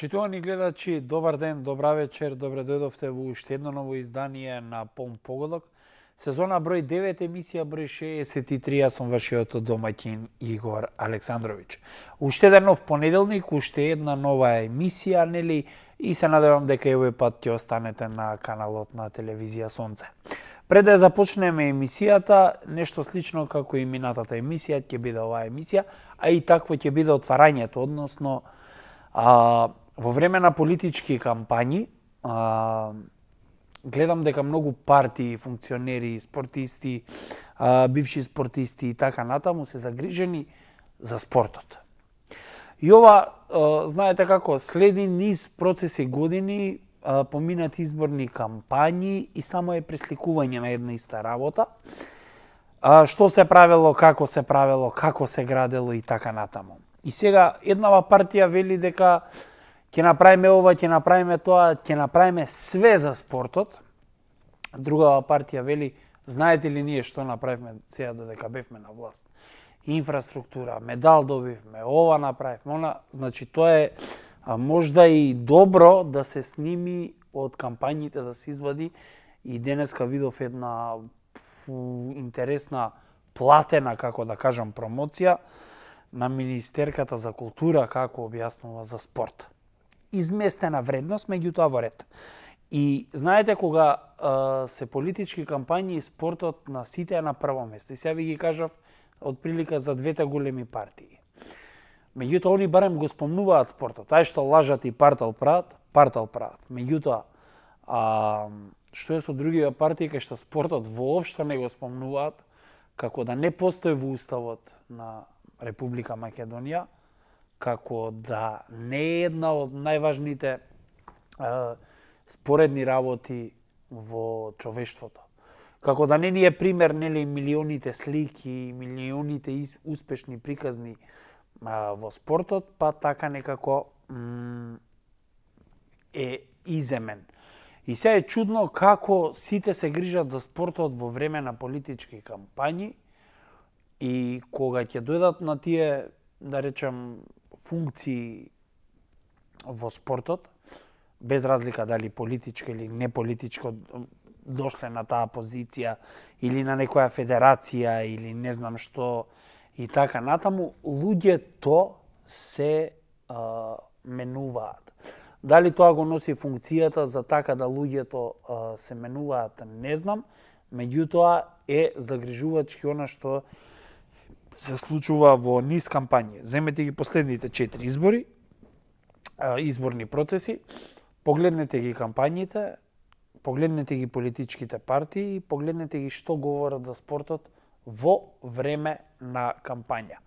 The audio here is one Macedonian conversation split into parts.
Почитувани гледачи, добар ден, добра вечер, добре дојдовте во уште едно ново издание на Полн погодок. Сезона број 9, емисија број 63, јас сум вашиот домаќин Игор Александрович. Уште еден нов понеделник, уште една нова емисија, нели, и се надевам дека и овој пат ќе останете на каналот на телевизија Сонце. Пред да започнеме емисијата, нешто слично како и минатата емисија, ќе биде оваа емисија, а и такво ќе биде отварањето, односно во време на политички кампањи, гледам дека многу партии, функционери, спортисти, бивши спортисти и така натаму се загрижени за спортот. И ова, знаете како, следи низ процеси години, поминат изборни кампањи и само е пресликување на една иста работа. Што се правело, како се градело и така натаму. И сега еднава партија вели дека ќе направиме ова, ќе направиме тоа, ќе направиме све за спортот. Другава партија вели, знаете ли ние што направивме сега додека бевме на власт? Инфраструктура, медал добивме, ова направивме, она. Значи тоа е можда и добро да се сними од кампањите, да се извади. И денеска видов една интересна, платена, како да кажам, промоција на Министерката за култура како објаснува за спорт. Изместена вредност, меѓутоа во ред. И знаете, кога се политички кампањи, спортот на сите е на прво место. И сега ви ги кажав од прилика за двете големи партии. Меѓутоа, они барем го спомнуваат спортот. Тај што лажат и партал прават. Меѓутоа, што е со другите партии кај што спортот воопшто не го спомнуваат, како да не постои во уставот на Република Македонија, како да не е една од најважните споредни работи во човештвото. Како да не ни е пример, нели, милионите слики, милионите успешни приказни во спортот, па така некако е иземен. И сега е чудно како сите се грижат за спортот во време на политички кампањи и кога ќе дојдат на тие, да речем, функции во спортот, без разлика дали политичка или неполитичко дошле на таа позиција или на некоја федерација или не знам што и така натаму, луѓето се менуваат. Дали тоа го носи функцијата за така да луѓето се менуваат, не знам, меѓутоа е загрижувачки она што се случува во низ кампањи. Земете ги последните 4 избори, изборни процеси, погледнете ги кампањите, погледнете ги политичките партии, погледнете ги што говорат за спортот во време на кампања.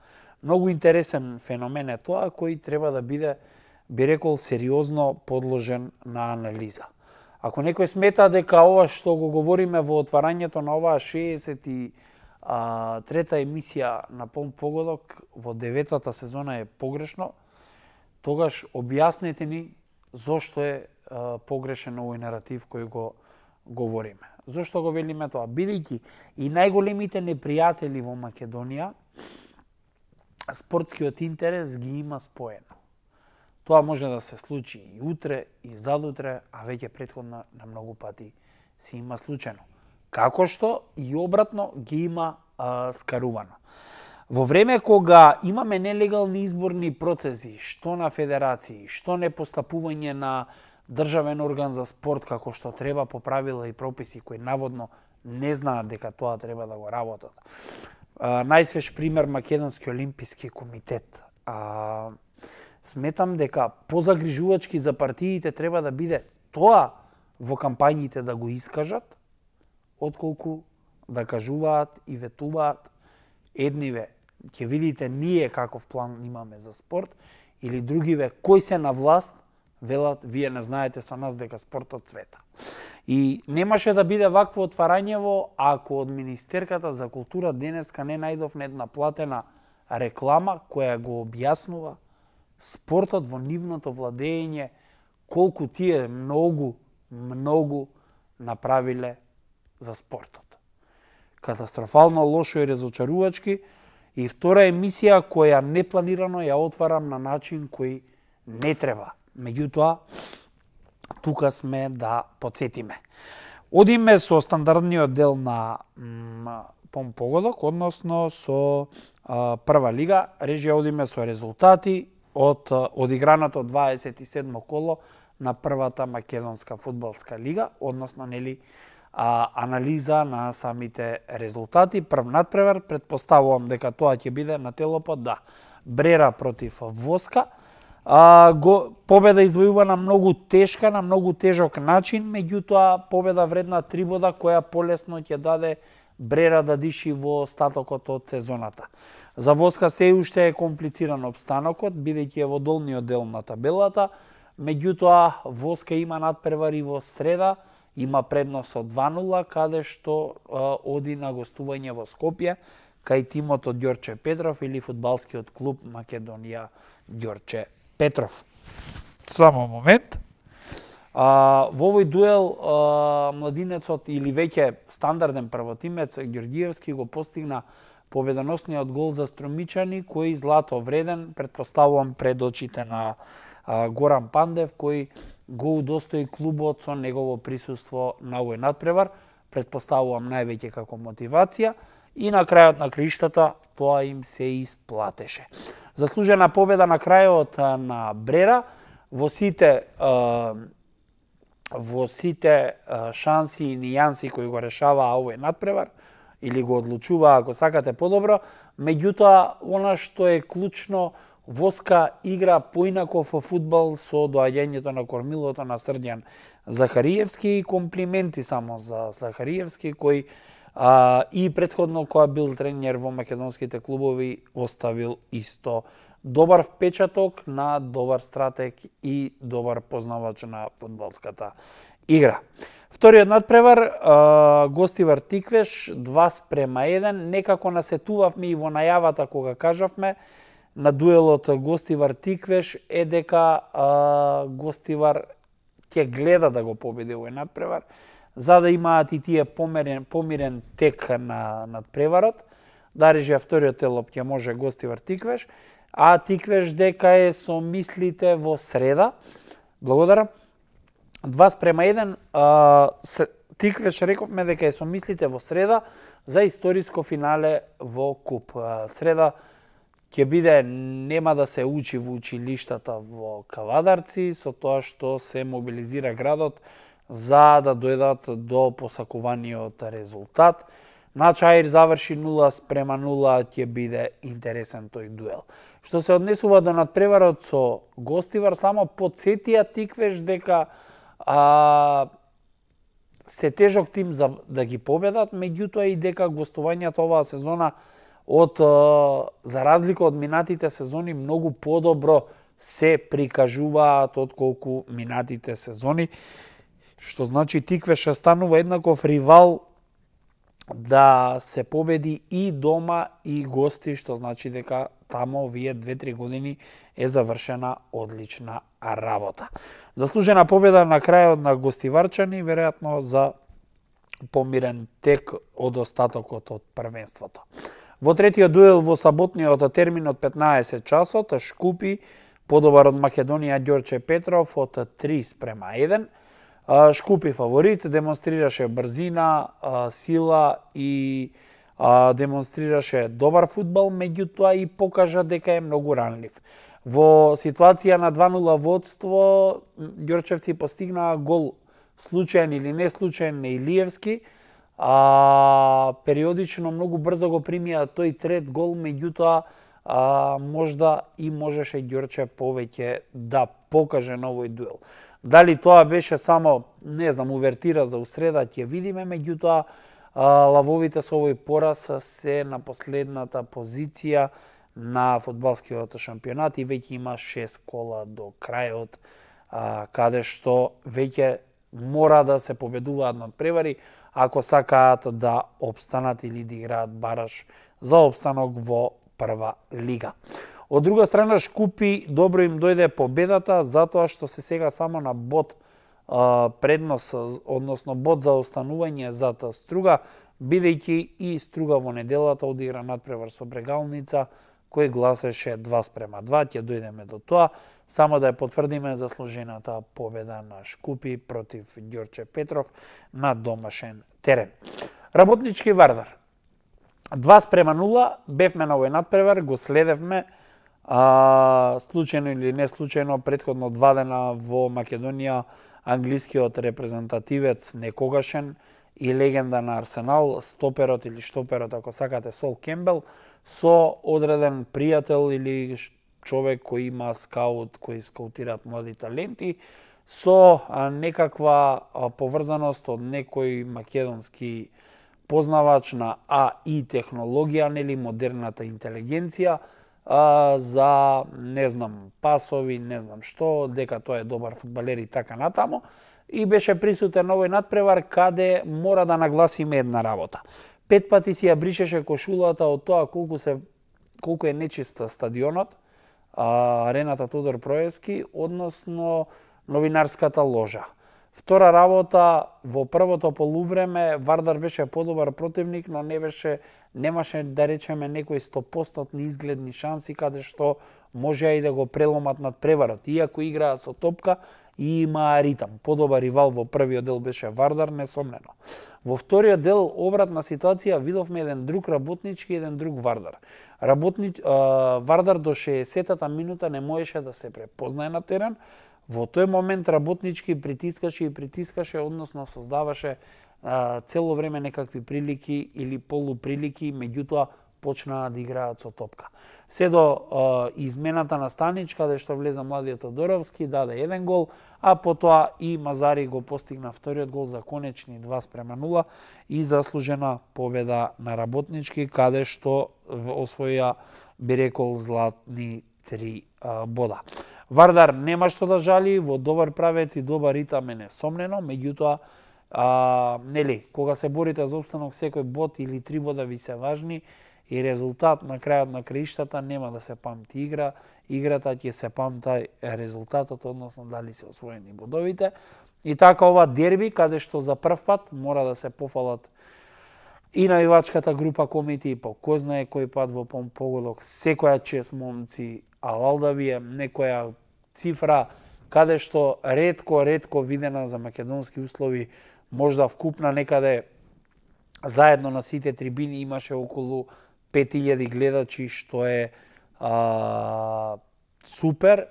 Многу интересен феномен е тоа, кој треба да биде, би рекол, сериозно подложен на анализа. Ако некој смета дека ова што го говориме во отварањето на оваа 63-та емисија на Полн погодок во 9-та сезона е погрешно, тогаш објаснете ни зошто е погрешен овој наратив кој го говориме. Зошто го велиме тоа? Бидејќи и најголемите непријатели во Македонија, спортскиот интерес ги има споено. Тоа може да се случи и утре, и задутре, а веќе претходно на многу пати се има случено. Како што и обратно ги има скарувано. Во време кога имаме нелегални изборни процеси, што на федерации, што не постапување на државен орган за спорт како што треба по правила и прописи кои наводно не знаат дека тоа треба да го работат. Најсвеж пример Македонски олимписки комитет. Сметам дека позагрижувачки за партиите треба да биде тоа во кампањите да го искажат, отколку да кажуваат и ветуваат едниве, ќе видите ние каков план имаме за спорт, или другиве кои се на власт, велат, вие не знаете со нас дека спортот цвета. И немаше да биде вакво отварањево ако од Министерката за култура денеска не најдовме една платена реклама која го објаснува спортот во нивното владење, колку тие многу направиле за спортот. Катастрофално лошо и разочарувачки. И втора емисија која непланирано ја отварам на начин кој не треба Меѓутоа, тука сме да подсетиме. Одиме со стандардниот дел на погодок, односно со прва лига. Режија одиме со резултати од одиграното 27 коло на првата македонска фудбалска лига, односно анализа на самите резултати. Прв надпревар, претпоставувам дека тоа ќе биде на телопот, да, Брера против Воска. Победа извојувана многу тешка, на многу тежок начин, меѓутоа победа вредна 3 бода, која полесно ќе даде Брера да диши во остатокот од сезоната. За Воска се уште е комплициран обстанокот, бидејќи е во долниот дел на табелата, меѓутоа Воска има надпревари во среда, има предност од 2-0, каде што оди на гостување во Скопје, кај тимот од Ѓорче Петров или фудбалскиот клуб Македонија Ѓорче Петров. Само момент. Во овој дуел младинецот или веќе стандарден првотимец Ѓорѓиевски го постигна победоносниот гол за Струмичани, кој злато вреден, претпоставувам пред очите на Горан Пандев, кој го удостои клубот со негово присуство на овој надпревар, претпоставувам највеќе како мотивација, и на крајот на криштата тоа им се исплатеше. Заслужена победа на крајот на Брера, во сите шанси и нијанси кои го решаваа овој надпревар, или го одлучуваа, ако сакате, подобро, меѓутоа, она што е клучно, Воска игра поинаков фудбал со доаѓањето на кормилото на Срдјан Захариевски, и комплименти само за Захариевски, кој и претходно која бил тренер во македонските клубови оставил исто добар впечаток на добар стратег и добар познавач на фудбалската игра. Вториот надпревар, Гостивар Тиквеш 2:1, некако насетувавме и во најавата кога кажавме на дуелот Гостивар Тиквеш е дека Гостивар ќе гледа да го победи овој надпревар, за да имаат и тие помирен тек на надпреварот, да режија вториот телоп ќе може Гостивар Тиквеш, а Тиквеш дека е со мислите во среда. Благодарам. 2:1, Тиквеш рековме дека е со мислите во среда за историско финале во Куп. Среда ќе биде, нема да се учи во училиштата во Кавадарци, со тоа што се мобилизира градот за да дојдат до посакуваниот резултат. На Чаир заврши 0:0, ќе биде интересен тој дуел. Што се однесува до надпреварот со Гостивар, само подсетија Тиквеш дека се тежок тим за да ги победат, меѓутоа и дека гостувањата оваа сезона за разлика од минатите сезони многу подобро се прикажуваат отколку минатите сезони, што значи Тиквеш станува еднаков ривал да се победи и дома и гости, што значи дека тамо овие 2-3 години е завршена одлична работа. Заслужена победа на крајот на гостиварчани, веројатно за помирен тек од остатокот од првенството. Во третиот дуел во саботниот термин од 15 часот, Шкупи подобар од Македонија Ѓорче Петров од 3:1. Шкупи фаворит, демонстрираше брзина, сила и демонстрираше добар фудбал, меѓутоа и покажа дека е многу ранлив. Во ситуација на 2:0 водство, Ѓорчевци постигнаа гол случаен или не случаен на Илиевски, периодично многу брзо го примија тој трет гол, меѓутоа можда и можеше Ѓорче повеќе да покаже на овој дуел. Дали тоа беше само, не знам, увертира за усреда, ќе видиме, меѓутоа лавовите со овој пораз се на последната позиција на фудбалскиот шампионат и веќе има 6 кола до крајот, каде што веќе мора да се победуваат надпревари ако сакаат да обстанат или да играат бараш за обстанок во прва лига. Од друга страна, Шкупи добро им дојде победата, затоа што се сега само на бод преднос, односно бод за останување зад Струга, бидејќи и Струга во неделата одигра надпревар со Брегалница, кој гласеше 2:2. Ќе дојдеме до тоа. Само да ја потврдиме заслужената победа на Шкупи против Ѓорче Петров на домашен терен. Работнички Вардар. 2:0, бевме на овој надпревар, го следевме случајно или не случајно претходно 2 дена во Македонија англискиот репрезентативец некогашен и легенда на Арсенал, стоперот или шторперот, ако сакате, Сол Кембел, со одреден пријател или човек кој има скаут, кој скаутираат млади таленти, со некаква поврзаност од некој македонски познавач на АИ технологија, нели модерната интелигенција, за, не знам, пасови, не знам што, дека тоа е добар фудбалер и така натаму. И беше присутен овој надпревар каде мора да нагласиме една работа. 5 пати си ја бришеше кошулата од тоа колку е нечист стадионот, арената Тодор Проевски, односно новинарската ложа. Втора работа, во првото полувреме Вардар беше подобар противник, но немаше да речеме некои 100% изгледни шанси каде што можеа и да го преломат над преварот. Иако играа со топка и имаа ритам. Подобар ривал во првиот дел беше Вардар, несомнено. Во вториот дел обратна ситуација, видовме еден друг Работнички и еден друг Вардар. Вардар до 60-та минута не можеше да се препознае на терен. Во тој момент Работнички притискаше, односно создаваше цело време некакви прилики или полуприлики, меѓутоа почнаа да играат со топка. Се до измената на Станич, каде што влеза младиот Тодоровски, даде еден гол, а потоа и Мазари го постигна вториот гол за конечни 2:0 и заслужена победа на Работнички, каде што освоја, би рекол, златни 3 бода. Вардар нема што да жали, во добар правец и добар ритам е несомнено, меѓутоа, нели, кога се борите за опстанок, секој бод или 3 бода ви се важни и резултат на крајот на краиштата нема да се памти играта ќе се памти резултатот, односно дали се освоени бодовите. И така ова дерби, каде што за прв пат мора да се пофалат и навивачката група Комити, и по кој знае кој пат во погодок, секоја чест момци, алал да ви е некоја цифра, каде што ретко видена за македонски услови, можда вкупна некаде заедно на сите трибини имаше околу 5000 гледачи, што е супер.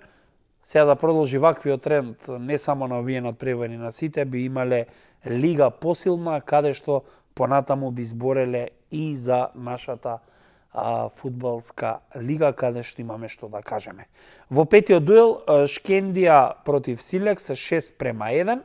Сега да продолжи ваквиот тренд, не само на овие надпревари на сите, би имале лига посилна, каде што понатаму би збореле и за нашата фудбалска лига, каде што имаме што да кажеме. Во петиот дуел, Шкендија против Силекс 6:1.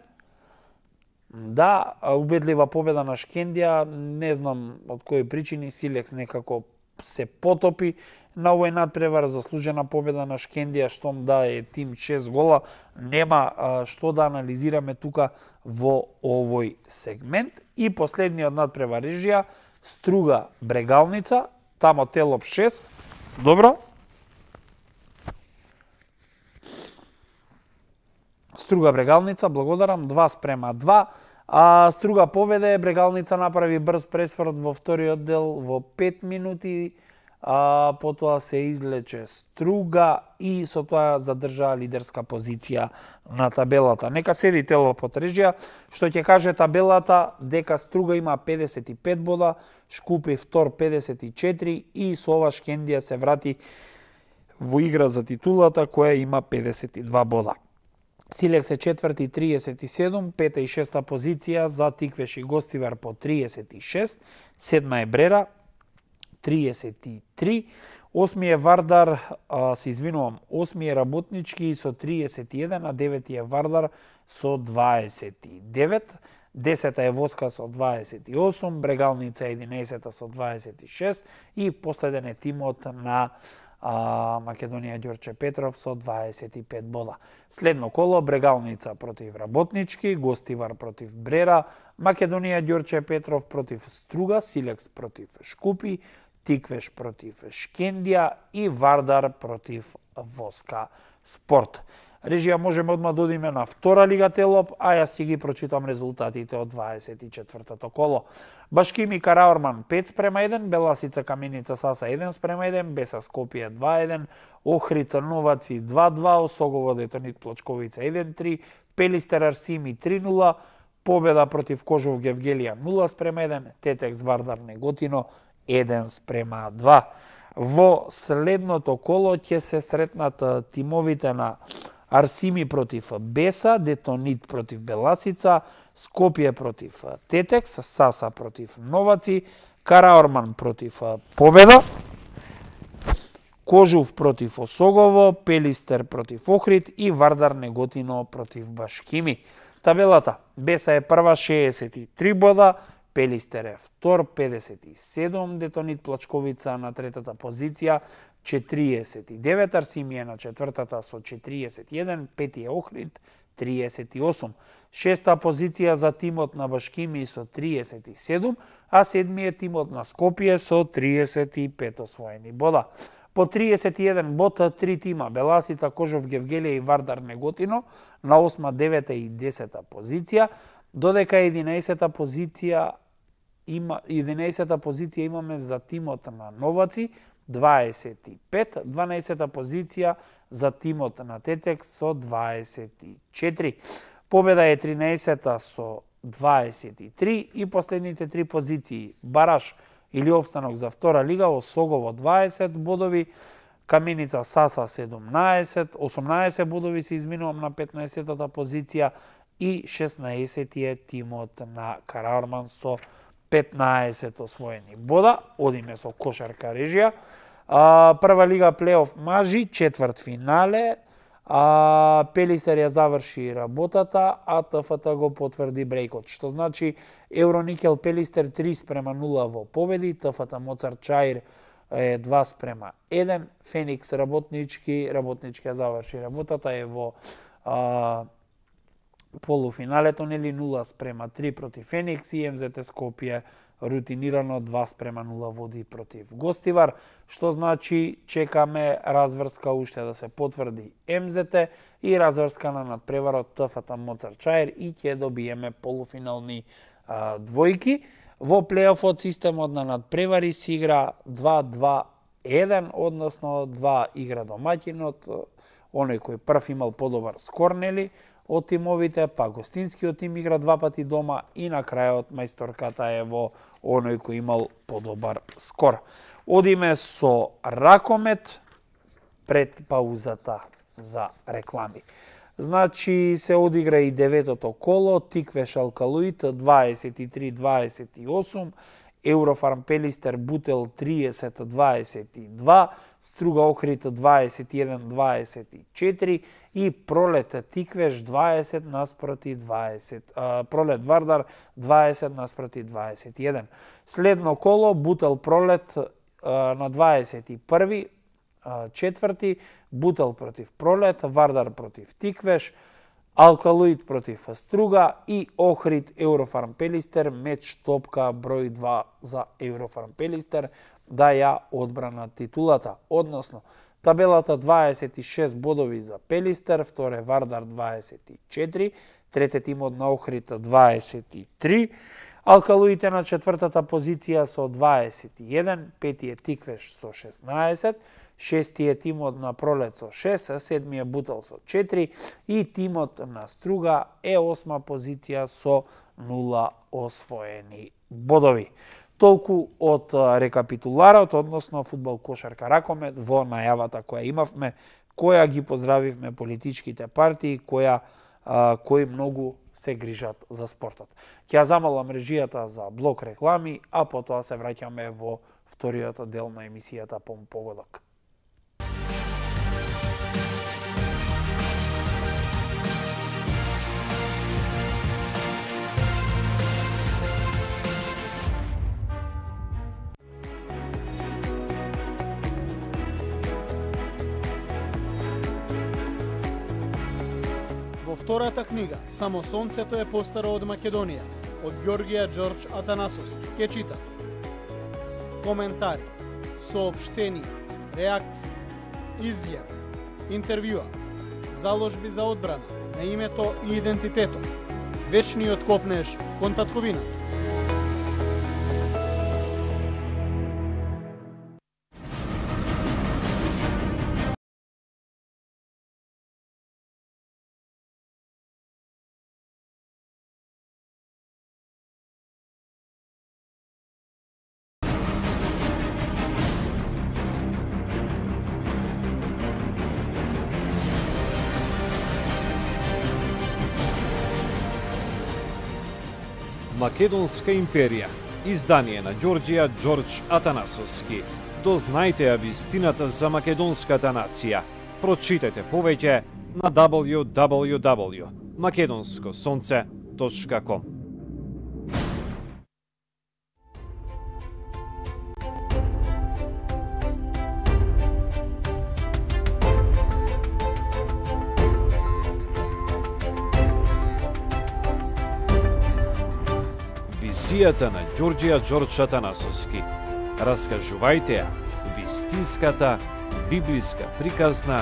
Да, убедлива победа на Шкендија, не знам од кои причини, Силекс некако се потопи на овој надпревар, заслужена победа на Шкендија, штом да е тим 6 гола, нема што да анализираме тука во овој сегмент. И последниот надпревар Рижија, Струга Брегалница, тамо Телоп 6. Добро. Струга Брегалница, благодарам, 2:2. Струга поведе, Брегалница направи брз пресврт во вториот дел во 5 минути, потоа се излече Струга и со тоа задржаа лидерска позиција на табелата. Нека седи Телоп од Рижија, што ќе каже табелата дека Струга има 55 бода, Шкупи втор 54 и со ова Шкендија се врати во игра за титулата која има 52 бода. Силекс е четврти 37, пета и шеста позиција за Тиквеш и Гостивар по 36, седма е Брера 33, осми е Вардар, осми е Работнички со 31, а девети е Вардар со 29, десета е Воска со 28, Брегалница 11 со 26 и последен е тимот на Македонија Ѓорче Петров со 25 бода. Следно коло Брегалница против Работнички, Гостивар против Брера, Македонија Ѓорче Петров против Струга, Силекс против Шкупи, Тиквеш против Шкендија и Вардар против Воска Спорт. Режија, можеме одма да одиме на втора лига Телоп, а јас ќе ги прочитам резултатите од 24-тото коло. Башкими Караорман 5:1, Беласица Каменица Саса 1:1, Беса Скопје 2:1, Охрид Новаци 2:2, Осогово Детонит Плочковица 1:3, Пелистер Арсими 3:0, победа против Кожов Гевгелија 0:1, Тетекс Вардар Неготино 1:2. Во следното коло ќе се сретнат тимовите на Арсими против Беса, Детонит против Беласица, Скопје против Тетекс, Саса против Новаци, Караорман против Победа, Кожув против Осогово, Пелистер против Охрид и Вардар Неготино против Башкими. Табелата: Беса е прва 63 бода, Пелистер е втор 57, Детонит Плачковица на третата позиција 49, Арсими е на четвртата со 41, пети е Охрид 38. Шеста позиција за тимот на Башкими со 37, а седми е тимот на Скопје со 35 освоени бода. По 31 бод 3 тима: Беласица, Кожов Гевгелија и Вардар Неготино на 8, 9 и 10 позиција, додека 11 позиција имаме за тимот на Новаци 25, 12 позиција за тимот на Тетекс со 24. Победа е 13 со 23 и последните три позиции: Бараш или опстанок за втора лига, Осогово 20 бодови, Каменица Саса 18 бодови се изминувам на 15-тата позиција и 16 е тимот на Караорман со 15 освоени бода. Одиме со кошарка Режија. Прва лига плейоф мажи, четврт финале. Пелистер ја заврши работата, а ТФТ го потврди брејкот, што значи Евроникел Пелистер 3:0 во победи, ТФТ Моцарт Чаир е 2:1, Феникс Работнички ја заврши работата, е во полуфиналето, нели 0:3 против Феникс, и МЗТ Скопје рутинирано 2:0 води против Гостивар, што значи чекаме разврска уште да се потврди МЗТ и разврска на надпреварот ТФТ Моцарт Чаир и ќе добиеме полуфинални двојки. Во плейофот системот на надпревари се игра 2-2-1, односно 2 игра домаќинот, оној кој прв имал подобар скор, нели, од тимовите, па гостинскиот тим игра 2 пати дома и на крајот мајсторката е во оној кој имал подобар скор. Одиме со ракомет пред паузата за реклами. Значи се одигра и 9-тото коло, Тиквеш Алкалуит 23-28, Еврофарм Пелистер Бутел 30-22, Струга Охрид 21-24 и Пролет Тиквеш 20-20, Пролет Вардар 20-21. Следно коло Бутел Пролет на 21 четврти, Бутел против Пролет, Вардар против Тиквеш, Алкалуит против Струга и Охрид Еврофарм Пелистер, меч топка број 2 за Еврофарм Пелистер да ја одбрана титулата. Односно, табелата 26 бодови за Пелистер, вторе Вардар 24, трете тимот на Охрид 23, Алкалуите на четвртата позиција со 21, пети е Тиквеш со 16, шести е тимот на Пролет со 6, седми е Бутел со 4 и тимот на Струга е 8 позиција со 0 освоени бодови. Толку од рекапитуларот, односно фудбал, кошарка, ракомет, во најавата која имавме, која ги поздравивме политичките партии, кои многу се грижат за спортот. Ќе ја замолам режијата за блок реклами, а потоа се враќаме во вториот дел на емисијата по погодок. Во втората книга «Само сонцето е постаро од Македонија» од Ѓорѓија Ѓорџ Атанасовски ќе чита коментари, соопштенија, реакции, изјави, интервјуа, заложби за одбрана на името и идентитетот. Вечниот копнеш кон татковина. Македонска империја, издание на Ѓорѓија Ѓорџ Атанасовски. Дознајте ја вистината за македонската нација. Прочитете повеќе на www.makedonskosonce.com. Визијата на Ѓорѓија Ѓорџ Атанасовски. Раскажувајте ја вистинската библиска приказна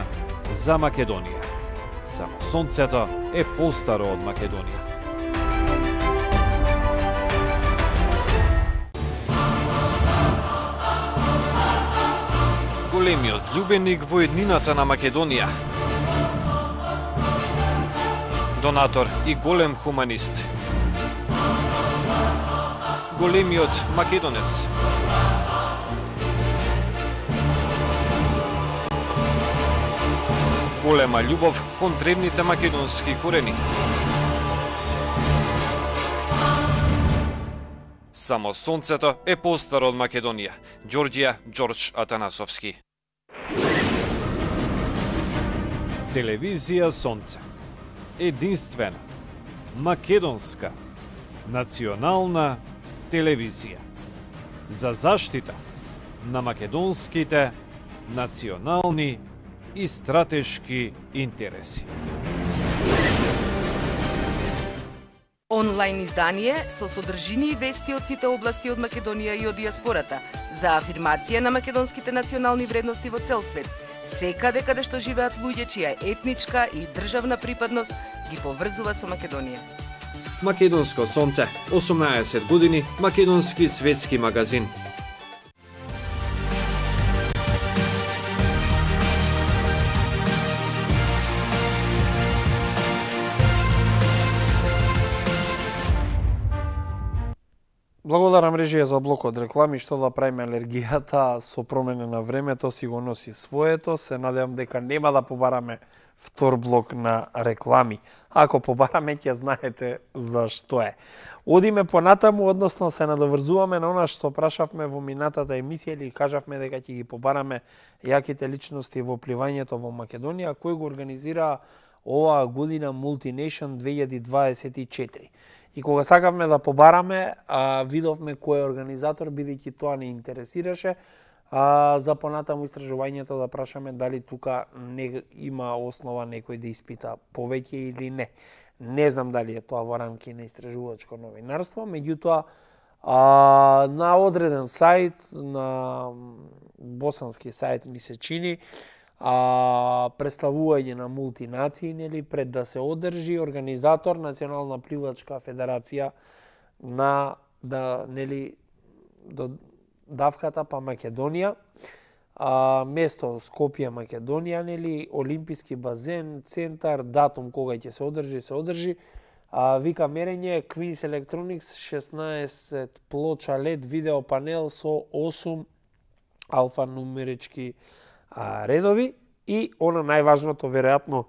за Македонија. Само сонцето е постаро од Македонија. Големиот љубеник во еднината на Македонија. Донатор и голем хуманист. Големиот македонец. Голема љубов кон древните македонски корени. Само сонцето е постаро од Македонија. Ѓорѓија Ѓорџ Атанасовски. Телевизија Сонце. Единствена, македонска, национална телевизија за заштита на македонските национални и стратешки интереси. Онлайн издание со содржини и вести од сите области од Македонија и од диаспората за афирмација на македонските национални вредности во цел свет, секаде каде што живеат луѓе чија етничка и државна припадност ги поврзува со Македонија. Македонско сонце, 18 години, македонски светски магазин. Благодарам режија за блокот реклами, што да правиме алергијата со промена на времето си го носи своето. Се надевам дека нема да побараме втор блок на реклами. Ако побараме, ќе знаете зашто е. Одиме понатаму, односно се надоврзуваме на она што прашавме во минатата емисија или кажавме дека ќе ги побараме јаките личности во пливањето во Македонија, кој го организира оваа година Multination 2024. И кога сакавме да побараме, видовме кој е организатор, бидејќи тоа не интересираше, за понатаму истражувањето да прашаме дали тука не има основа некој да испита повеќе или не. Не знам дали е тоа во рамки на истражувачко новинарство, меѓутоа на одреден сајт, на босански сајт ми се чини, представување на мултинации, нели, пред да се одржи организатор Национална пливачка федерација на нели до давката па Македонија, место Скопје, Македонија, нели, олимписки базен, центар, датум кога ќе се одржи, вика мерење Queen's Electronics 16 плоча LED видео панел со 8 алфанумерички редови и она најважното веројатно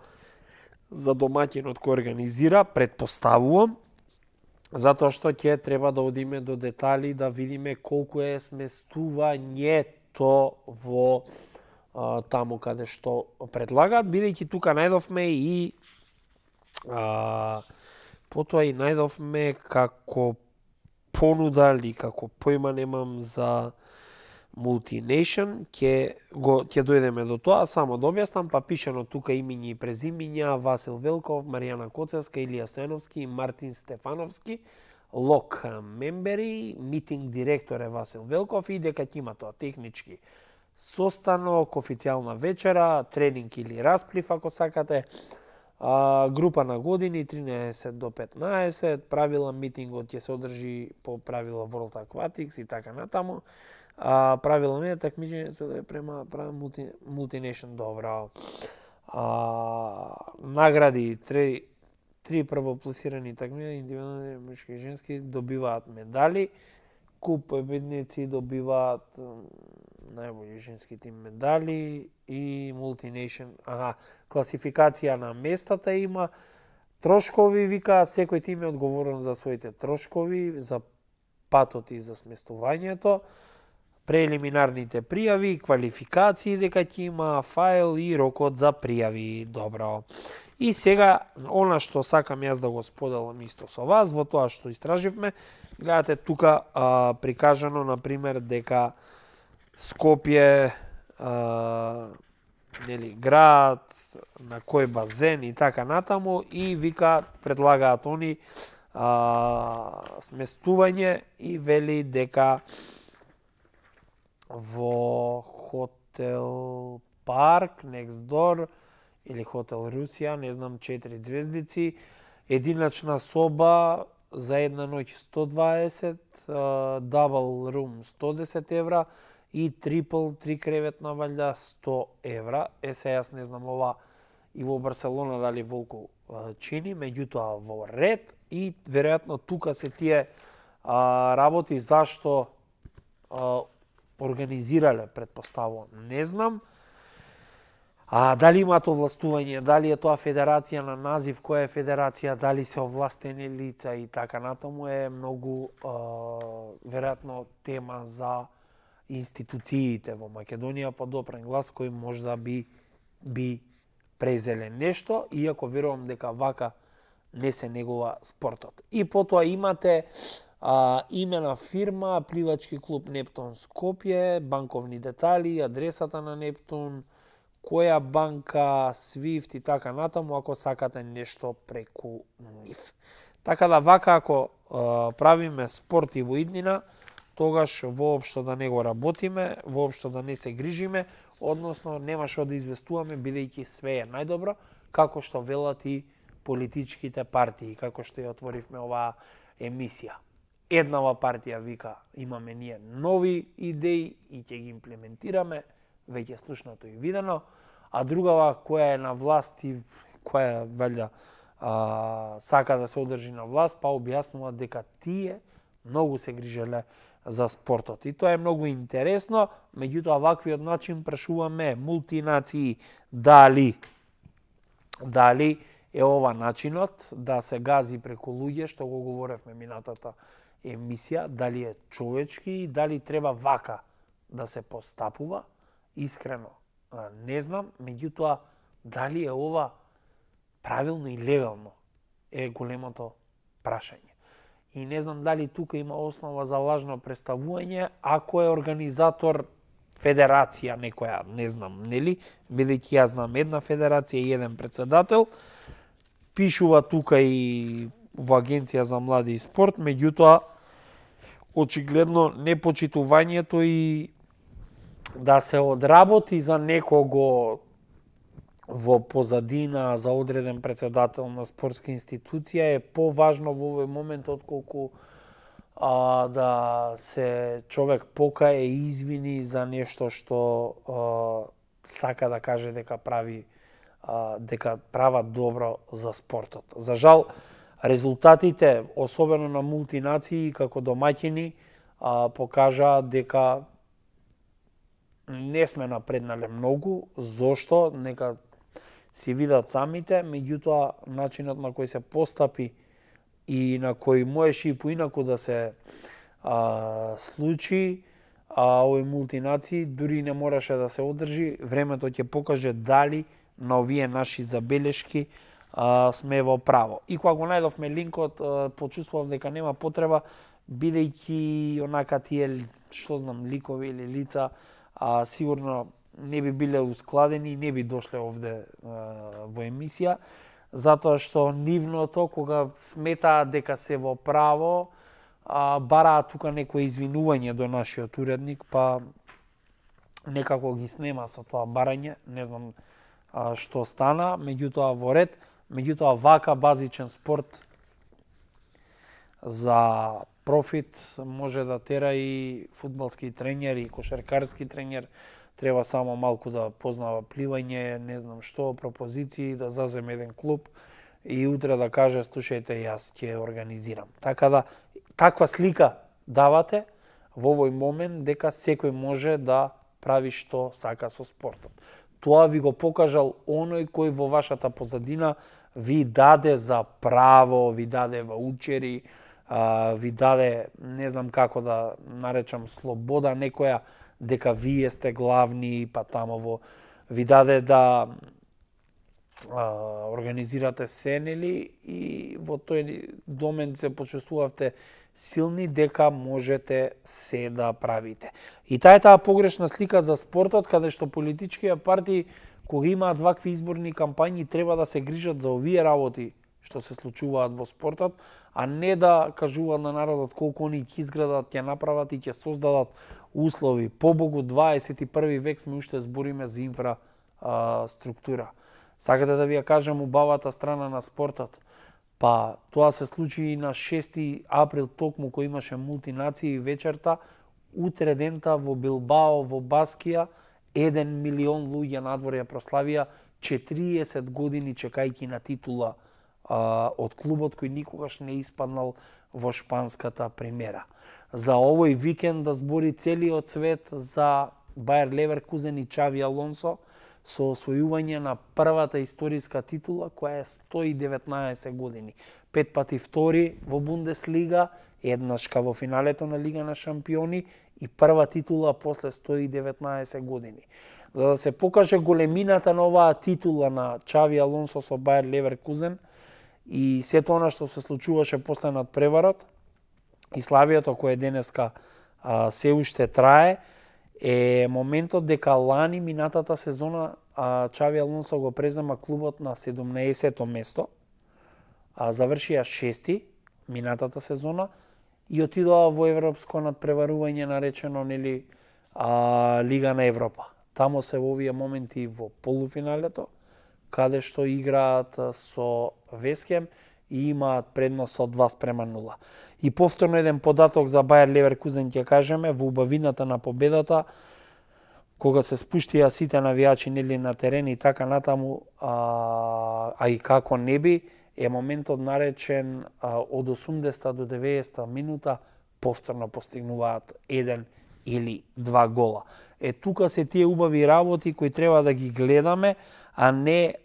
за домаќинот кој организира, предпоставувам, затоа што ќе треба да одиме до детали да видиме колку е сместувањето во таму каде што предлагаат, бидејќи тука најдовме и потоа и најдовме како понуда или како појма немам за Multination, ќе дојдеме до тоа, само да објаснам, па пишано тука имиња и презимиња Васил Велков, Маријана Коцевска, Илија Стојановски и Мартин Стефановски, лок мембери, митинг директор е Васил Велков и дека ќе има тоа технички состанок, официјална вечера, тренинг или расплив ако сакате, група на години 13 до 15, правила митингот ќе се одржи по правила World Aquatics и така натаму. Правила ми такмичење се према Multination, добро. Награди, три првопласирани такмичења, индивидуални, мужки и женски, добиваат медали. Куп победници добиваат најбољи женски тим медали и Multination, класификација на местата има, трошкови, вика, секој тим е одговорен за своите трошкови, за патот и за сместувањето, прелиминарните пријави, квалификации дека ќе има, файл и рокот за пријави, добро. И сега, она што сакам јас да го споделам исто со вас, во тоа што истраживме, гледате тука прикажано, например, дека Скопје, град, на кој базен и така натаму, и вика, предлагаат они сместување и вели дека во хотел Парк, next door, или хотел Русија, не знам, 4 звездици, единачна соба за една ноќ 120, double room 110 евра и трипл, 3 креветна валја 100 евра. Се јас не знам ова и во Барселона дали волку чини, меѓутоа во ред и веројатно тука се тие работи зашто организирале, предпоставувам, не знам. Дали имаат овластување, дали е тоа федерација на назив, која е федерација, дали се овластени лица и така натаму е многу веројатно тема за институциите во Македонија по допрен глас кој можда би презеле нешто, иако верувам дека вака не се негува спортот. И потоа имате име на фирма, пливачки клуб Нептун Скопје, банковни детали, адресата на Нептун, која банка, Свифт и така натаму, ако сакате нешто преку нив. Така да вака, ако правиме спорт и во иднина, тогаш воопшто да не го работиме, воопшто да не се грижиме, односно нема што да известуваме, бидејќи све е најдобро, како што велат и политичките партии, како што ја отворивме оваа емисија. Еднава партија вика, имаме ние нови идеи и ќе ги имплементираме, веќе слушнато и видено, а другава која е на власт и која валја сака да се одржи на власт, па објаснува дека тие многу се грижеле за спортот. И тоа е многу интересно, меѓутоа ваквиот начин прашуваме мултинации дали е ова начинот да се гази преку луѓе, што го говоревме минатата емисија, дали е човечки и дали треба вака да се постапува. Искрено не знам, меѓутоа дали е ова правилно и легално е големото прашање. И не знам дали тука има основа за лажно представување, ако е организатор федерација некоја, не знам, нели, бидејќи јас знам една федерација и еден председател, пишува тука и во Агенција за млади и спорт, меѓутоа очигледно непочитувањето и да се одработи за некого во позадина за одреден председател на спортска институција е поважно во овој момент отколку да се човек покае и извини за нешто што сака да каже дека права добро за спортот. За жал, резултатите, особено на мултинации како домаќини, покажаа дека не сме напреднале многу. Зошто? Нека си видат самите, меѓутоа начинот на кој се постапи и на кој можеше и поинаку да се случи овој мултинации, дури не мораше да се одржи. Времето ќе покаже дали на овие наши забелешки сме во право. И кога го најдовме линкот, почувствував дека нема потреба, бидејќи онака тие, што знам, ликови или лица, сигурно не би биле ускладени, не би дошле овде во емисија, затоа што нивното, кога сметаат дека се во право, бараат тука некој извинување до нашиот уредник, па некако ги снема со тоа барање, не знам што стана, меѓутоа во ред, меѓутоа вака базичен спорт за профит може да тера и фудбалски тренер и кошаркарски тренер, треба само малку да познава пливање, не знам што, пропозиции, да заземе еден клуб и утре да каже, слушајте, јас ќе организирам. Така да, таква слика давате во овој момент дека секој може да прави што сака со спортот. Тоа ви го покажал оној кој во вашата позадина ви даде за право, ви даде ваучери, ви даде, не знам како да наречам, слобода некоја, дека вие сте главни, па тамово ви даде да организирате се, нели, и во тој домен се почувствувавте силни дека можете се да правите. И таа погрешна слика за спортот, каде што политичките партии, кога имаат вакви изборни кампањи, треба да се грижат за овие работи што се случуваат во спортот, а не да кажуваат на народот колку они ќе изградат, ќе направат и ќе создадат услови. Побогу, 21 век сме уште збориме за инфраструктура. Сакате да ви ја кажам убавата страна на спортот? Па тоа се случи и на 6 април, токму кој имаше мултинации вечерта, утре дента во Билбао, во Баскија, 1 милион луѓе надвор ја прославија 40 години чекајќи на титула од клубот кој никогаш не испаднал во шпанската премиера. За овој викенд да збори целиот свет за Бајер Леверкузен и Чави Алонсо со освојување на првата историска титула која е 119 години. 5 пати втори во Бундеслига, еднашка во финалето на Лига на шампиони и прва титула после 119 години. За да се покаже големината на оваа титула на Чави Алонсо со Бајер Леверкузен и сето она што се случуваше после надпреварот и славието кое денеска се уште трае, е моментот дека лани минатата сезона Чави Алонсо го презема клубот на 17-то место, завршија 6-ти минатата сезона и отидоа во европско надпреварување наречено, нели, Лига на Европа. Тамо се во овие моменти во полуфиналето, каде што играат со Весхем и имаат предност од 2:0. И повторно еден податок за Бајер Леверкузен ќе кажеме, во убавината на победата, кога се спуштија сите навијачи, нели, на терен и така натаму, а и како не би, е моментот наречен од 80 до 90 минута повторно постигнуваат 1 или 2 гола. Тука се тие убави работи кои треба да ги гледаме, а не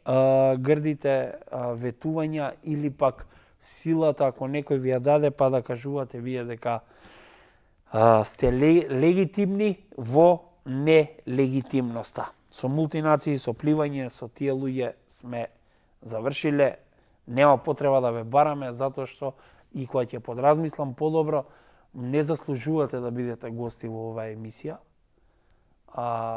грдите ветувања или пак силата, ако некој ви ја даде, па да кажувате вие дека сте легитимни во нелегитимноста. Со мултинации, со пливање, со тие луѓе сме завршиле, нема потреба да ве бараме, затоа што и кога ќе подразмислам подобро, не заслужувате да бидете гости во оваа емисија,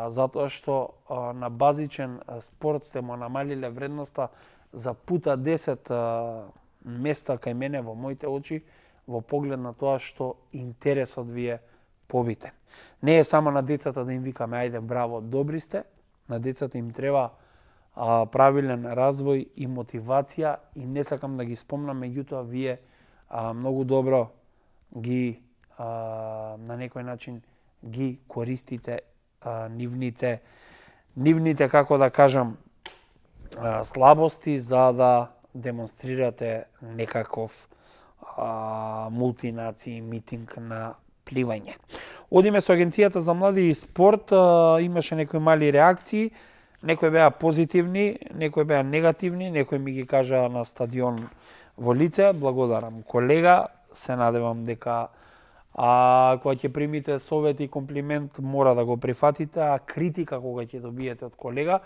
затоа што на базичен спорт сте му намалиле вредноста за пута 10 места кај мене во моите очи, во поглед на тоа што интересот ви е побитен. Не е само на децата да им викаме ајде браво, добри сте, на децата им треба правилен развој и мотивација и не сакам да ги спомнам, меѓутоа вие многу добро ги на некој начин ги користите нивните, како да кажам, слабости за да демонстрирате некаков мултинации митинг на пливање. Одиме со Агенцијата за млади и спорт, имаше некои мали реакции, некои беа позитивни, некои беа негативни, некои ми ги кажа на стадион во лице. Благодарам, колега, се надевам дека кога ќе примите совет и комплимент мора да го прифатите, а критика кога ќе добиете од колега,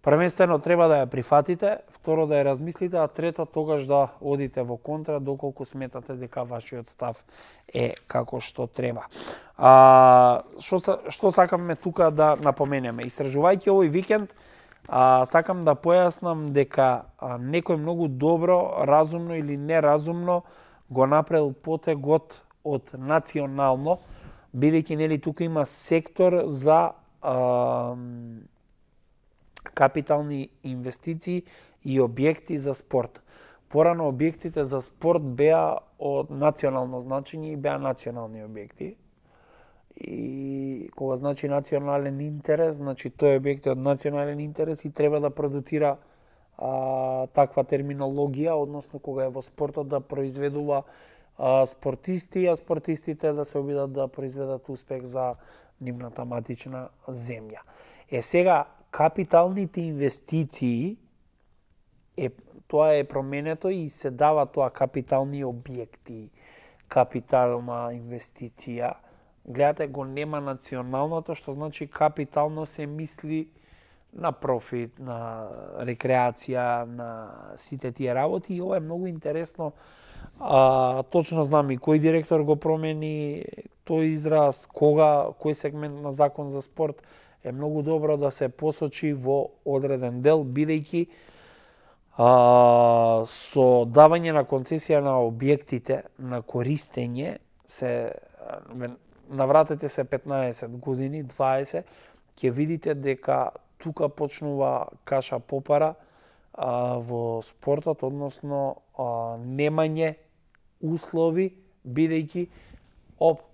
првенствено треба да ја прифатите, второ да ја размислите, а трето тогаш да одите во контра доколку сметате дека вашиот став е како што треба. Што сакаме тука да напоменеме? Истражувајќи овој викенд, сакам да појаснам дека некој многу добро, разумно или неразумно го направил потегот од национално, бидејќи нели тука има сектор за капитални инвестиции и објекти за спорт. Порано објектите за спорт беа од национално значење и беа национални објекти. И кога значи национален интерес, значи тој објект е од национален интерес и треба да продуцира таква терминологија, односно кога е во спортот да произведува спортисти, а спортистите да се обидат да произведат успех за нивната матична земја. Сега, капиталните инвестиции, тоа е променето и се дава тоа капитални објекти, капитална инвестиција. Гледате, го нема националното, што значи капитално се мисли на профит, на рекреација, на сите тие работи. И ова е многу интересно. Точно знам и кој директор го промени тој израз, кога, кој сегмент на закон за спорт е многу добро да се посочи во одреден дел, бидејќи со давање на концесија на објектите на користење се навратете се 15 години, 20, ќе видите дека тука почнува каша попара во спортот, односно немање услови, бидејќи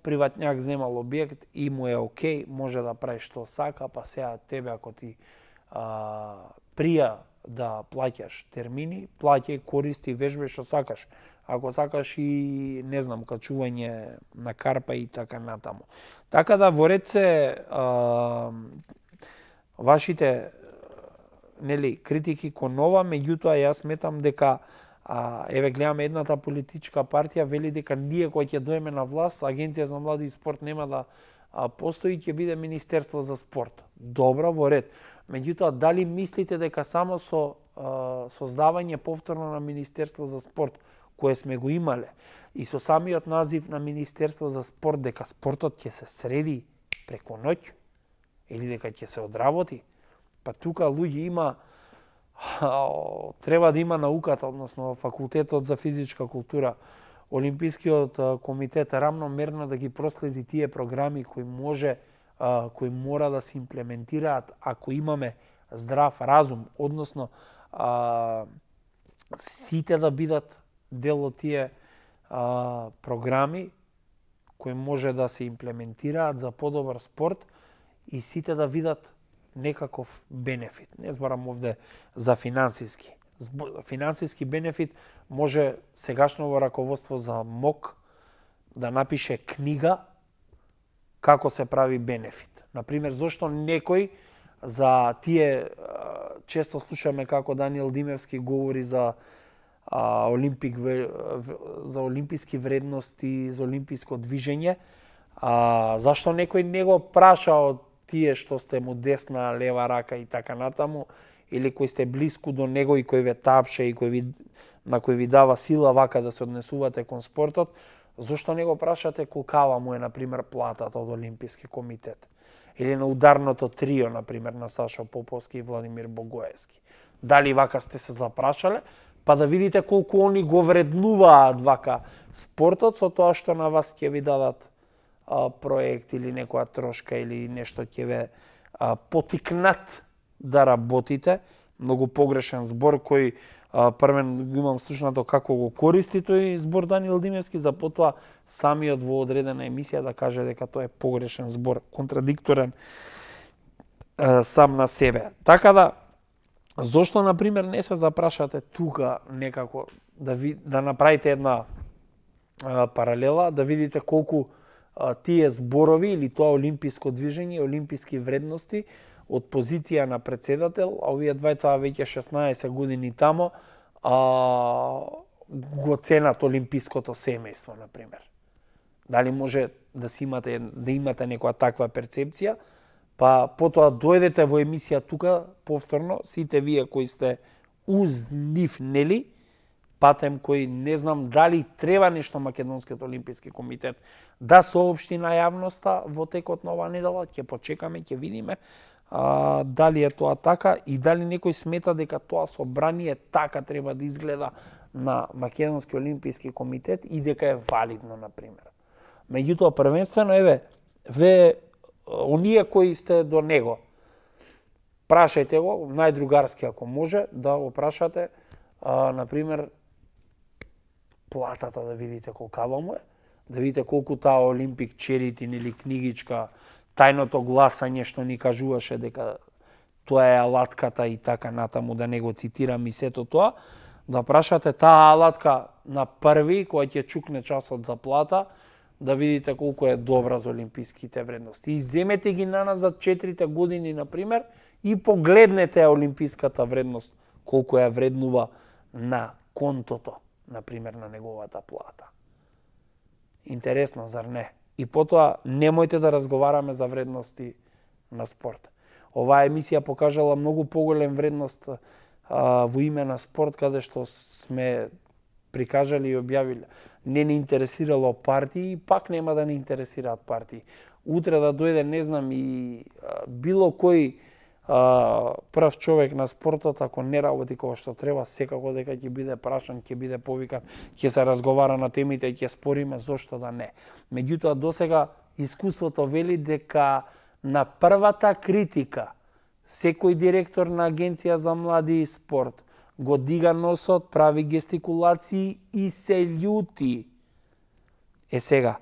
приватњак земал објект и му е окей, може да прави што сака, па сега тебе ако ти прија да плаќаш термини, плаќај, користи, вежбај што сакаш. Ако сакаш и, не знам, качување на карпа и така натаму. Така да во ред се вашите критики кон ова, меѓутоа јас сметам дека еве гледаме едната политичка партија вели дека ние кои ќе дојме на власт, Агенција за млади и спорт нема да постои, ќе биде Министерство за спорт. Добро, во ред. Меѓутоа, дали мислите дека само со создавање повторно на Министерство за спорт, кое сме го имале, и со самиот назив на Министерство за спорт, дека спортот ќе се среди преку ноќ, или дека ќе се одработи? Па тука луѓе има, треба да има науката, односно факултетот за физичка култура, Олимпискиот комитет рамномерно да ги проследи тие програми кои мора да се имплементираат ако имаме здрав разум, односно сите да бидат дел од тие програми кои може да се имплементираат за подобар спорт и сите да видат некаков бенефит. Не зборам овде за финансиски. Финансиски бенефит може сегашно раководство за МОК да напише книга како се прави бенефит. Например, зошто некој за тие, често слушаме како Даниел Димевски говори за олимписки вредности, за олимписко движење, зашто некој не го праша од тие што сте му десна, лева рака и така натаму, или кој сте блиску до него и кој ве тапше и на кој ви дава сила вака да се однесувате кон спортот, зошто не го прашате колкава му е, например, платата од Олимписки комитет? Или на ударното трио, например, на Сашо Поповски и Владимир Богоевски. Дали вака сте се запрашале, па да видите колку они го вреднуваат вака спортот со тоа што на вас ќе ви дадат проект или некоја трошка или нешто ќе ве потикнат да работите. Многу погрешен збор кој првен го имам слушнато како го користи тој збор Даниел Димевски, за потоа самиот во одредена емисија да каже дека тоа е погрешен збор, контрадикторен сам на себе. Така да, зошто, например, не се запрашате тука некако да направите една паралела, да видите колку тие зборови или тоа олимписко движење, олимписки вредности од позиција на председател, а овие двајца веќе 16 години тамо, го ценат олимпиското семејство, например. Дали може да имате некоја таква перцепција, па потоа дојдете во емисија тука повторно, сите вие кои сте уз нив, нели, патем кој не знам дали треба нешто Македонскиот олимписки комитет да соопшти на јавноста во текот на оваа недела, ќе почекаме, ќе видиме дали е тоа така и дали некој смета дека тоа собрание така треба да изгледа на Македонски олимписки комитет и дека е валидно, например. Меѓутоа, првенствено, ве оние кои сте до него. Прашајте го, најдругарски ако може, да го прашате, например, платата да видите колкава му е, да видите колку таа Олимпик Черитин или книгичка, тајното гласање што ни кажуваше дека тоа е алатката и така натаму, да не го цитирам и сето тоа, да прашате таа алатка на први, која ќе чукне часот за плата, да видите колку е добра за олимписките вредности. И земете ги на нас за 4 години, например, и погледнете олимписката вредност, колку ја вреднува на контото, например, на неговата плата. Интересно, зар не? И потоа, немојте да разговараме за вредности на спорт. Оваа емисија покажала многу поголем вредност во име на спорт, каде што сме прикажали и објавили. Не ни интересирало партии, и пак нема да ни интересираат партии. Утре да дојде, не знам, и било кој прв човек на спортот, ако не работи како што треба, секако дека ќе биде прашан, ќе биде повикан, ќе се разговара на темите и ќе спориме, зошто да не. Меѓутоа, досега искуството вели дека на првата критика секој директор на Агенција за млади и спорт го дига носот, прави гестикулации и се љути. Сега,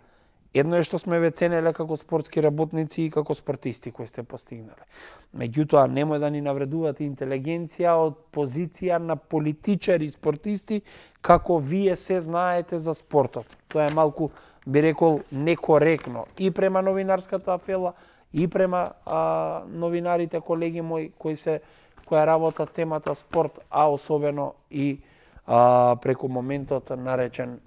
едно е што сме ве ценеле како спортски работници и како спортисти кои сте постигнале. Меѓутоа, немој да ни навредувате интелигенција од позиција на политичари и спортисти, како вие се знаете за спортот. Тоа е малку, би рекол, некоректно и према новинарската афела, и према новинарите, колеги мои, која работат темата спорт, а особено и преку моментот наречен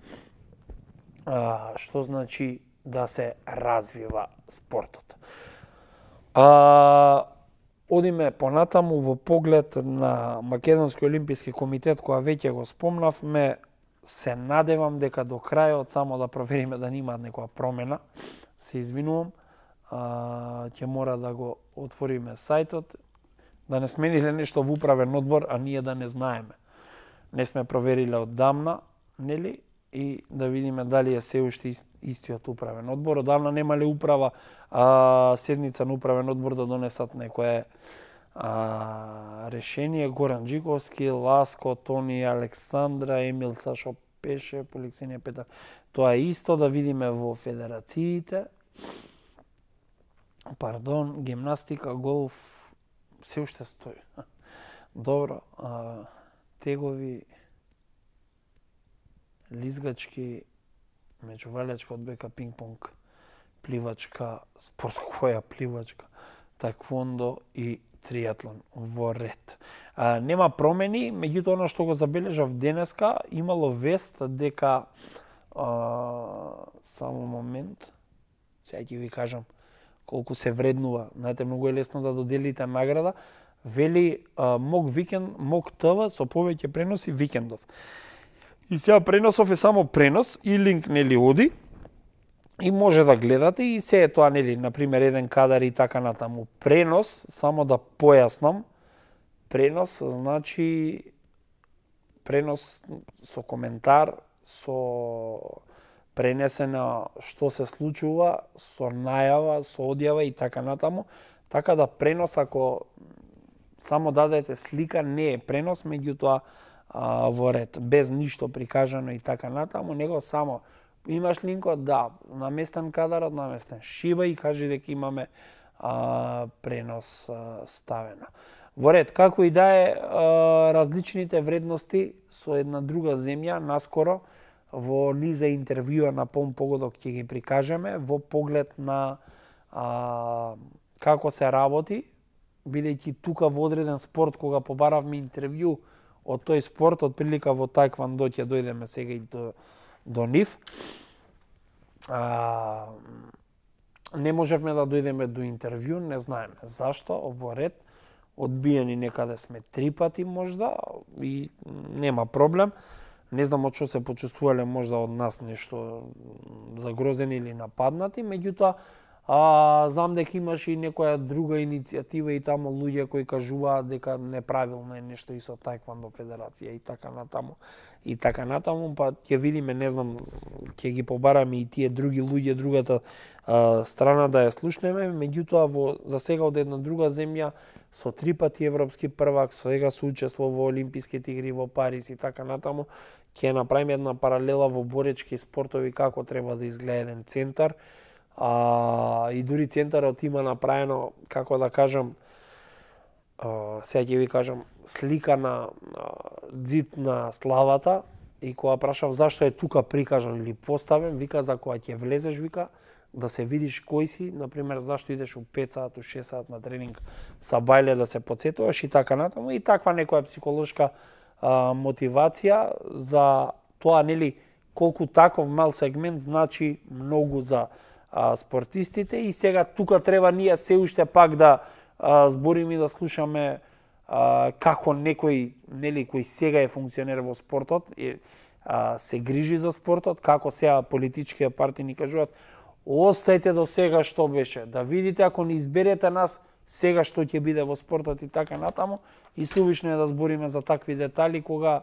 што значи да се развива спортот. Одиме понатаму во поглед на Македонски олимписки комитет, која веќе го спомнавме. Се надевам дека до крајот, само да провериме да немаат некоја промена, се извинувам, ќе мора да го отвориме сајтот, да не смениле нешто во управен одбор, а ние да не знаеме. Не сме провериле оддамна, нели? И да видиме дали е се уште истиот управен одбор. Одамна немале управа, седница на управен одбор да донесат некое решение. Горан Джиковски, Ласко, Тони, Александра, Емил, Сашо Пеше, Поликсинија Петар. Тоа е исто, да видиме во федерациите. Пардон, гимнастика, голф, се уште стои. Добро, тегови, лизгачки, меѓувалјачка, одбојка, пинг-понг, пливачка, спорт која пливачка, таквондо и триатлон во ред. Нема промени, меѓутоа ono што го забележав денеска, имало вест дека само момент, сега ќе ви кажам колку се вреднува. Знаете, многу е лесно да доделите награда. Вели МОК викенд, МОК ТВ со повеќе преноси викендов. И сега преносов е само пренос и линк нели оди и може да гледате и се е тоа нели, например, еден кадар и така натаму. Пренос, само да појаснам, пренос значи пренос со коментар, со пренесена што се случува, со најава, со одјава и така натаму. Така да пренос, ако само дадете слика, не е пренос, меѓутоа во ред, без ништо прикажано и така натаму, него само имаш линкот, да, наместен кадарот, наместен шиба и кажи дека имаме пренос ставено. Во ред, како и да е, различните вредности со една друга земја, наскоро, во низа интервјуа на полн погодок ќе ги прикажеме, во поглед на како се работи, бидејќи тука во одреден спорт, кога побаравме интервју од тој спорт, од прилика во тајквондо ќе дојдеме сега и до нив. Не можевме да дојдеме до интервју, не знаеме зашто, во ред, одбиени некаде сме 3 пати можда и нема проблем. Не знам од што се почувствувале можда од нас нешто загрозени или нападнати, меѓутоа Знам дека имаше и некоја друга иницијатива и таму луѓе кои кажуваат дека неправилно е нешто и со таеквондо федерација и така натаму. И така натаму, па ќе видиме, не знам, ќе ги побараме и тие други луѓе, другата страна да ја слушнеме, меѓутоа за сега од една друга земја со 3 пати европски првак, сега се учествува во Олимписките игри во Париз и така натаму, ќе направиме една паралела во боречки спортови како треба да изгледа еден центар. И дури центарот има направено, како да кажам, сега ќе ви кажам, слика на ѕид на славата, и кога прашав зашто е тука прикажан или поставен, вика за кога ќе влезеш, вика, да се видиш кој си, например, зашто идеш у 5 сат, у 6 сат на тренинг са бајле да се потсетуваш и така натаму, и таква некоја психолошка мотивација за тоа, нели, колку таков мал сегмент значи многу за спортистите, и сега тука треба ние се уште пак да збориме и да слушаме како некој, нели, кој сега е функционер во спортот, се грижи за спортот, како сега политичките партии ни кажуваат, остајте до сега што беше, да видите ако не изберете нас, сега што ќе биде во спортот и така натаму, и сувишно е да збориме за такви детали кога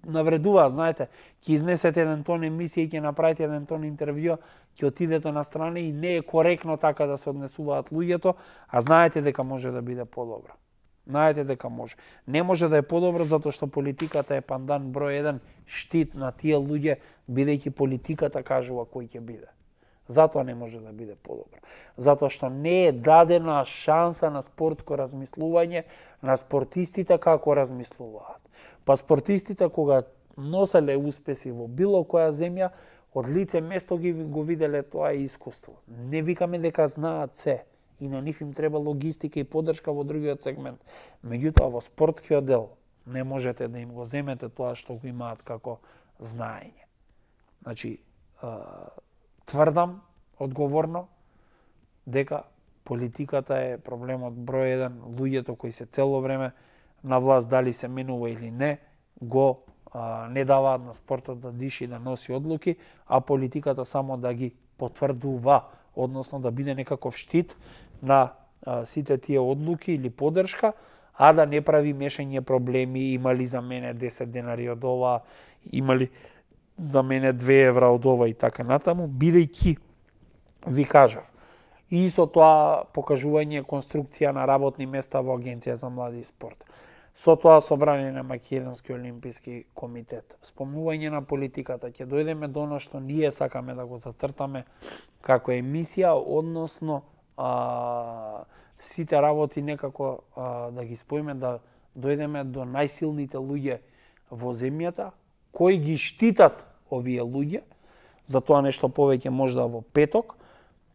навредува, знаете, ќе изнесете еден тон емисија и ќе направите еден тон интервју, ќе отидете на страна и не е коректно така да се однесуваат луѓето, а знаете дека може да биде подобро. Знаете дека може. Не може да е подобро затоа што политиката е пандан број 1 штит на тие луѓе, бидејќи политиката кажува кој ќе биде. Затоа не може да биде подобро. Затоа што не е дадена шанса на спортско размислување на спортистите како размислуваат. Па спортистите кога носеле успеси во било која земја, од лице место го виделе тоа искуство. Не викаме дека знаат се, и на нив им треба логистика и поддршка во другиот сегмент. Меѓутоа во спортскиот дел не можете да им го земете тоа што го имаат како знаење. Значи, тврдам одговорно дека политиката е проблемот број 1, луѓето кои се цело време на власт, дали се менува или не, го не даваат на спортот да диши, да носи одлуки, а политиката само да ги потврдува, односно да биде некаков штит на сите тие одлуки или поддршка, а да не прави мешање проблеми, имали за мене 10 денари од ова, имали за мене 2 евра од ова и така натаму, бидејќи, ви кажав, и со тоа покажување конструкција на работни места во Агенција за млади и спорт. Со тоа собрание на Македонски олимписки комитет, спомнување на политиката, ќе дојдеме до она што ние сакаме да го зацртаме како емисија, односно сите работи некако да ги споиме, да дојдеме до најсилните луѓе во земјата, кои ги штитат овие луѓе. За тоа нешто повеќе можда во петок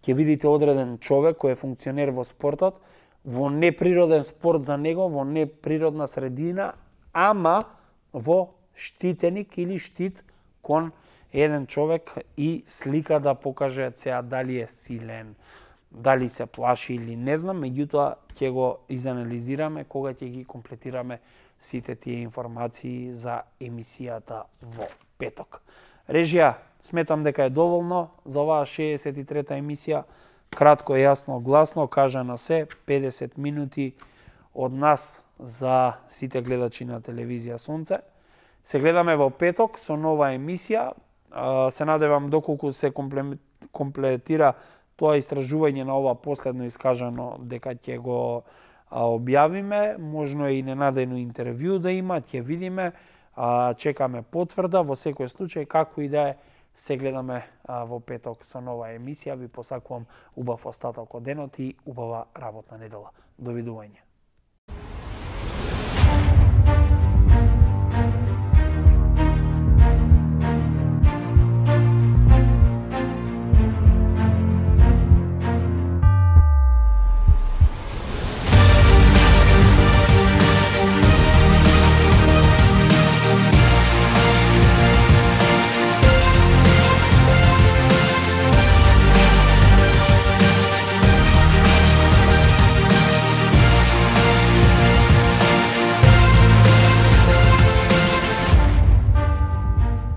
ќе видите одреден човек кој е функционер во спортот, во неприроден спорт за него, во неприродна средина, ама во штитеник или штит кон еден човек и слика да покаже сега дали е силен, дали се плаши или не знам, меѓутоа ќе го изанализираме кога ќе ги комплетираме сите тие информации за емисијата во петок. Режија, сметам дека е доволно за оваа 63-та емисија. Кратко, јасно, гласно, кажано се, 50 минути од нас за сите гледачи на телевизија Сонце. Се гледаме во петок со нова емисија. Се надевам доколку се комплетира тоа истражување на ова последно искажано дека ќе го објавиме, можно и ненадејно интервју да има, ќе видиме, чекаме потврда, во секој случај, како и да е, се гледаме во петок со нова емисија. Ви посакувам убав остаток од денот и убава работна недела. Довидување.